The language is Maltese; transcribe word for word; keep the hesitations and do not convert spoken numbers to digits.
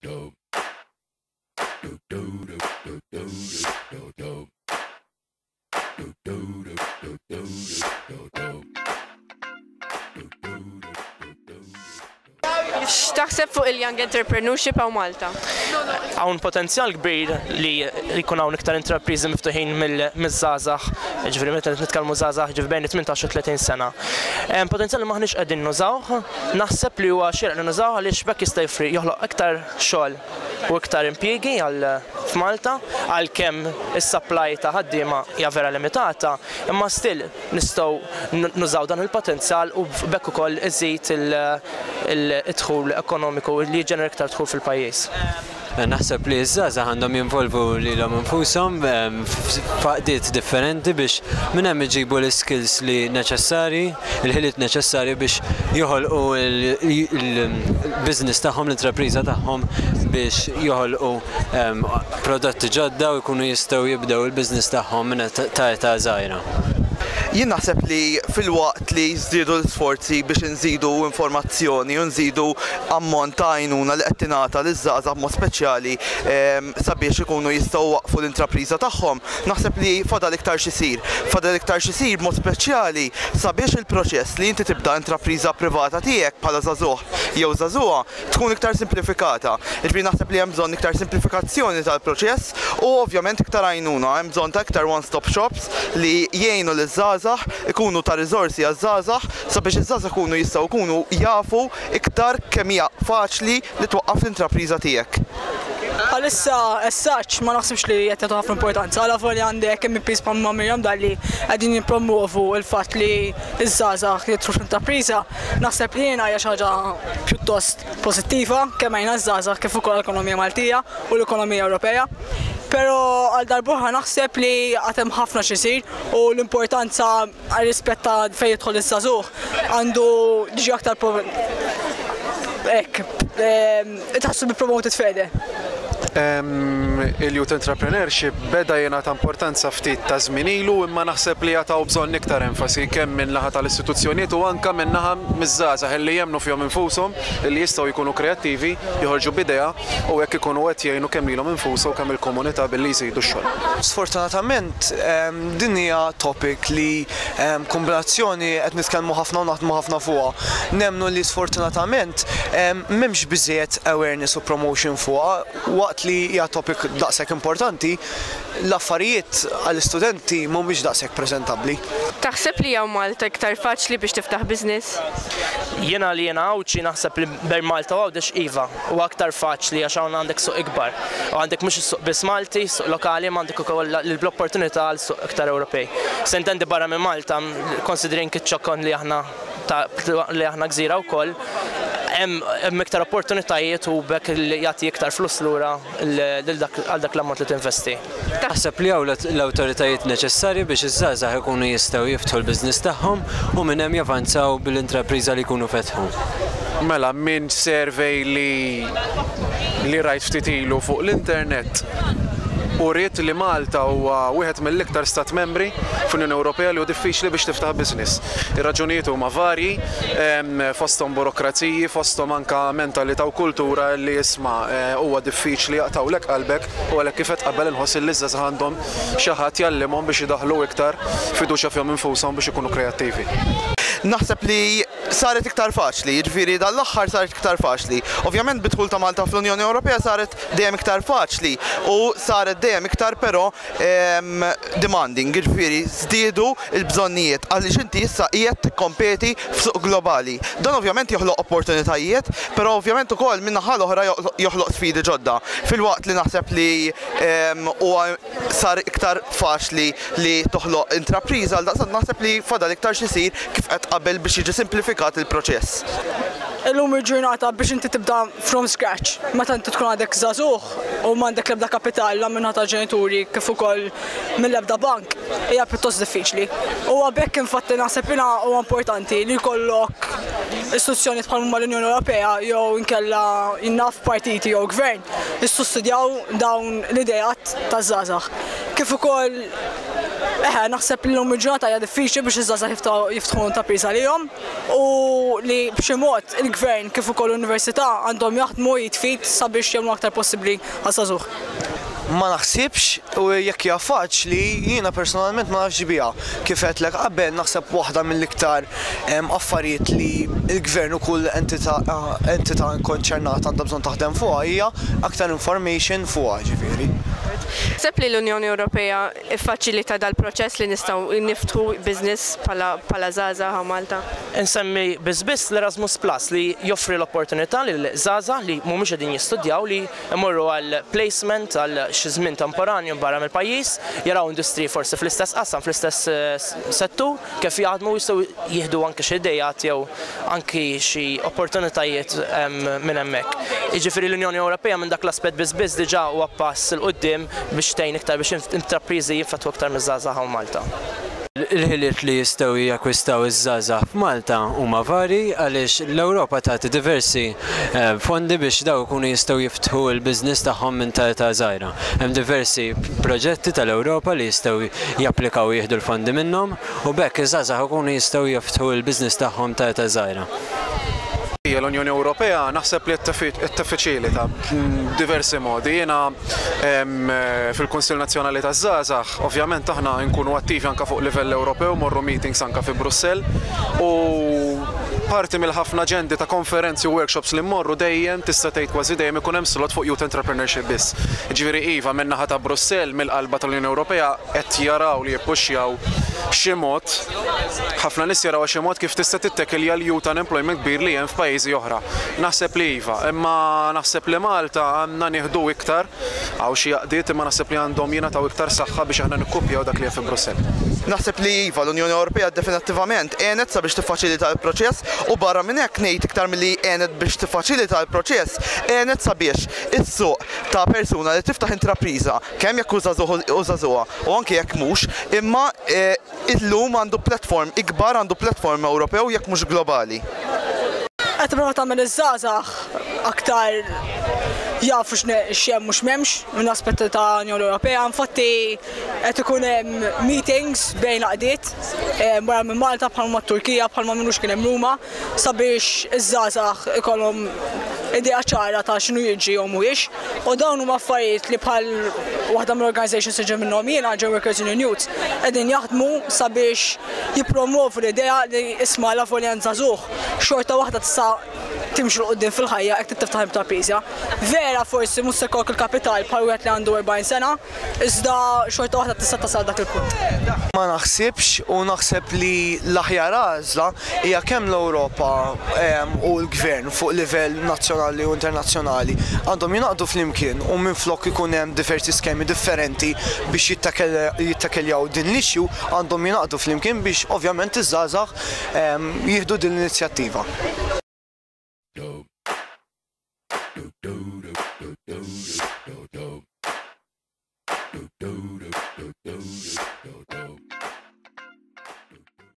Do do do do do do do do do do do do do do. X'taħseb fuq il-Young Entrepreneurship hawn Malta? Hawn potenzjal kbir li jkun hawn iktar intrapriżi miftuħin mill-żgħażagħ, ġifieri meta nitkellmu żgħażagħ, ġifieri bejn tmintax u tletin sena. Hemm potenzjal li maħniex qegħdin nużawh, naħseb li huwa xieraq li nużawh għaliex b'hekk jista' jfri joħloq iktar xogħol u iktar impjiegi għal f'Malta, għalkemm is-supply ta' ħaddiema hija vera limitata, imma still nistgħu nużaw dan il-potenzjal u b'hekk ukoll iżid il-dħul ekonomiku li jiġġenera iktar dħul fil-pajjiż. Naħseb li ż-żgħażagħ għandhom jinvolvu lilhom infushom f'għaqdiet differenti biex minn hemm iġibu l-skills li neċessarji, il-ħiliet neċessarji biex joħolqu il-business tagħhom, l-intrapriża tagħhom, biex joħolqu prodotti ġodda u jkunu jistgħu jibdew il-business tagħhom minn ta' età żgħira. Jien naħseb li filwaqt li żdiedu l-sforzi biex nżidu informazzjoni u nżidu ammont ta' għajnuna li qed tingħata liż-żgħażagħ b'mod speċjali sabiex ikunu jistgħu waqfu l-intrapriża tagħhom, naħseb li fadal iktar x'isir. Fadal iktar x'isir b'mod speċjali sabiex il-proċess li inti tibda intrapriża privata tiegħek bħala żagħżugħ jew żagħżugħa tkun iktar simplifikata. Jiġifieri naħseb li hemm bżonn iktar simplifikazzjoni tal-proċess u ovvjament iktar għajnuna, hemm bżonn ta' iktar one-stop shops li jgħinu liż-żgħażagħ ikunu ta' riżorsi għaż-żgħażagħ sabiex iż-żgħażagħ ikunu jistgħu jkunu jafu iktar kemm hija faċli li twaqqaf l-intrapriża tiegħek. Għalissa as such ma naħsibx li qed jagħtu ħafna importanza. Għala volja għandek M Ps bħal Miriam Dalli qegħdin jippromovu l-fatt li ż-żgħażagħ jidħlu fl-intrapriża, naħseb li jiena hija xi ħaġa pjuttost pożittiva kemm għajna ż-żgħażagħ kif ukoll l-ekonomija Maltija u l-ekonomija Ewropea. Però għal darb'oħra naħseb li għad hemm ħafna x'isir u l-importanza għal rispett ta' fejn jidħol iż-żagħżugħ għandu jiġi aktar hekk, it has to be promoted further. Il-youth entrepreneurship beda jingħata importanza ftit ta' żmien ilu, imma naħseb li jagħtaw bżonn iktar enfasi kemm minn naħa tal-istituzzjonijiet u anke minn naħa miż-żgħażagħ li jemmnu fihom infushom li jistgħu jkunu kreattivi, joħorġu b'idea u hekk ikunu qed jgħinu kemm lilhom infushom u kemm il-komunità billi jżidu x-xogħol. Sfortunatament din hija topic li kombinazzjoni qed nitkellmu ħafna u naħdmu ħafna fuqha. Nemmnu li sfortunatament m'hemmx biżejjed awareness u promotion fuqha waqt li hija topic daqshekk importanti, l-affarijiet għall-istudenti mhumiex daqshekk preżentabbli. Taħseb li hawn Malta iktar faċli biex tiftaħ business? Jiena li jiena Għawdxi naħseb li bejn Malta u Għawdex iva, u aktar faċli għax hawn għandek suq ikbar. U għandek mhux is-suq biss Malti, suq lokali, ma għandek ukoll l-opportunità għal suq iktar Ewropej. S'intendi barra minn Malta, considering iċ-ċokon li aħna li aħna gżira wkoll, hemm iktar opportunitajiet u b'hekk li jagħti iktar flus lura għal dak l-ammont li tinvesti. Taħseb li hawn l-awtoritajiet neċessarji biex iż-żgħażagħ ikunu jistgħu jiftħu l-business tagħhom u minn hemm javanzaw bil-intrapriża li jkunu fetħu? Mela, minn survey li li rajt ftit ilu fuq l-internet u rrit li Malta huwa wieħed mill-iktar stat membri fl-Unjoni Ewropea li hu diffiċli biex tiftaħ business. Ir-raġunijiet huma varji, fosthom burokraziji, fosthom anka mentalità u kultura li isma' huwa diffiċli, jaqtawlek qalbek, u għalhekk kif qed qabel inħoss li ż-żgħażagħ għandhom xi ħadd jgħallimhom biex idaħħlu iktar fiduċja fihom infushom biex ikunu kreattivi. Naħseb li saret iktar faċli, jiġifieri dal-aħħar saret iktar faċli. Ovvjament bid-dħul ta' Malta fl-Unjoni Ewropea saret dejjem iktar faċli u saret dejjem iktar però demanding, jiġifieri żdiedu l-bżonnijiet għaliex inti issa qiegħed tikkompeti f'suq globali. Dan ovvjament joħloq opportunitajiet, però ovvjament ukoll min-naħa l-oħra joħloq sfidi ġodda. Filwaqt li naħseb li huwa sar iktar faċli li toħloq intrapriża, għal daqstant naħseb li fadal iktar x'isir kif qed qabel biex jiġi simplifikat il-proċess. Illum il-ġurnata biex inti tibda from scratch, meta inti tkun għadek żagħżugħ u m'għandek l-ebda kapital la minn ta' ġenituri kif ukoll mill-ebda bank, hija pjuttost diffiċli. U għalhekk infatti naħseb jiena huwa importanti li jkollok istituzzjoni bħal huma l-Unjoni Ewropea jew inkella jinnaf partiti jew gvern jissussidjaw dawn l-idejat taż-żgħażagħ. Kif ukoll Eħe, naħseb li l-lum il-ġurnata hija diffiċli biex iż-żgħażagħ jiftħu intrapriża lihom u li b'xi mod il-gvern kif ukoll l-università għandhom jaħdmu id f'id sabiex jagħmlu aktar possibbli għaż-żagħżugħ. Ma naħsibx, u jekk hija faċli, jiena personalment ma nafx biha. Kif għedtlek qabel, naħseb waħda mill-iktar affarijiet li l-gvern u kull entità entità konċernata għandha bżonn taħdem fuqha hija aktar information fuqha, ġifieri. Naħseb li l-Unjoni Ewropea iffaċilita dal-proċess li nistgħu niftħu business bħala żgħażagħ Malta? Insemmi biss biss l-Erasmus Plus, li joffri l-opportunità lil żgħażagħ li mhumiex qegħdin jistudjaw li jmorru għal placement għal xi żmien temporanju barra mill-pajjiż, jaraw industriji forsi fl-istess qasam, fl-istess eh, settur, kif jaħdmu, jistgħu jieħdu anke xi idejat jew anki xi opportunitajiet minn hemmhekk. Jiġifieri l-Unjoni Ewropea minn dak l-aspett biss biss diġà huwa pass 'il quddiem biex tgħin iktar biex intrapriżi jinfetħu aktar miż-żgħażagħ hawn Malta. Il-ħiliet li jistgħu jakwistaw iż-żgħażagħ f'Malta huma vari, għaliex l-Ewropa tagħti diversi eh, fondi biex daw ikunu jistgħu jiftħu l-business tagħhom minn ta' età żgħira. Hemm diversi proġetti tal-Ewropa li jistgħu japplikaw, jieħdu l-fondi minnhom, u b'hekk iż-żgħażagħ ikunu jistgħu jiftħu l-business tagħhom ta' età żgħira. L-Unjoni Ewropea naħseb li qed tiffaċilita diversi modi. Jiena fil-Kunsill Nazzjonali taż-Żgħażagħ, ovvjament aħna nkunu attivi anke fuq livell Ewropew, morru meetings anke fi Brussell, u parti mill-ħafna aġendi ta' konferenzi u workshops li mmorru, dejjem, tista' tgħid kważi dejjem, ikun hemm slot fuq youth entrepreneurship biss. Ġifieri iva, min-naħa ta' Brussell, mill-qalba tal-Unjoni Ewropea, qed jaraw li jippuxjaw xi mod, ħafna nies jaraw xi mod kif tista' tittekilja l-youth unemployment kbir li hemm f'pajjiżi oħra. Naħseb li iva, imma naħseb li Malta għandna nieħdu iktar, hawn xi għaqdiet, imma naħseb li għandhom jingħataw iktar saħħa biex aħna nikkupjaw dak li hemm fi Brussell. Naħseb li iva, l-Unjoni Ewropea definittivament għenet sabiex tiffaċilita l-proċess, u barra minn hekk ngħid iktar milli għenet biex tiffaċilita l-proċess, għenet sabiex is-suq ta' persuna li tiftaħ intrapriża, kemm jekk hu żagħżugħ u anke jekk mhux, imma eh, illum għandu platform ikbar, għandu platform Ewropew jekk mhux globali. Qed tipprova tagħmel iż-żgħażagħ aktar jafu x'hemm mhux m'hemmx minn aspetti ta' Unjoni Ewropea. Infatti qed ikun hemm meetings bejn għaqdiet eh, barra minn Malta, bħalma Turkija, bħalma minux kien hemm Ruma, sabiex iż-żgħażagħ ikollhom idea ċara ta' x'inhu jiġi jew mhuwiex. U dawn huma affarijiet li bħal waħda mill-organizations li ġej minnhom jiena, German Workers Union Youth, qegħdin jaħdmu sabiex jippromovu l-idea li isma', la volja żagħżugħ, xorta waħda tista' timxi 'l quddiem fil-ħajja jekk tiftaħ intrapriża. Vera forsi mhux se jkollok il-kapital bħal wieħed li għandu erbgħin sena, iżda xorta waħda tista' tasal dak il-punt. Ma naħsibx, u naħseb li l-aħjar għażla hija kemm l-Ewropa u l-gvern fuq livell nazzjonali u internazzjonali għandhom jingħaqdu flimkien, u minflok ikun hemm diversi skemi differenti biex jittakkeljaw din l-issue, għandhom jingħaqdu flimkien biex ovvjament iż-żgħażagħ jieħdu din l-inizjattiva.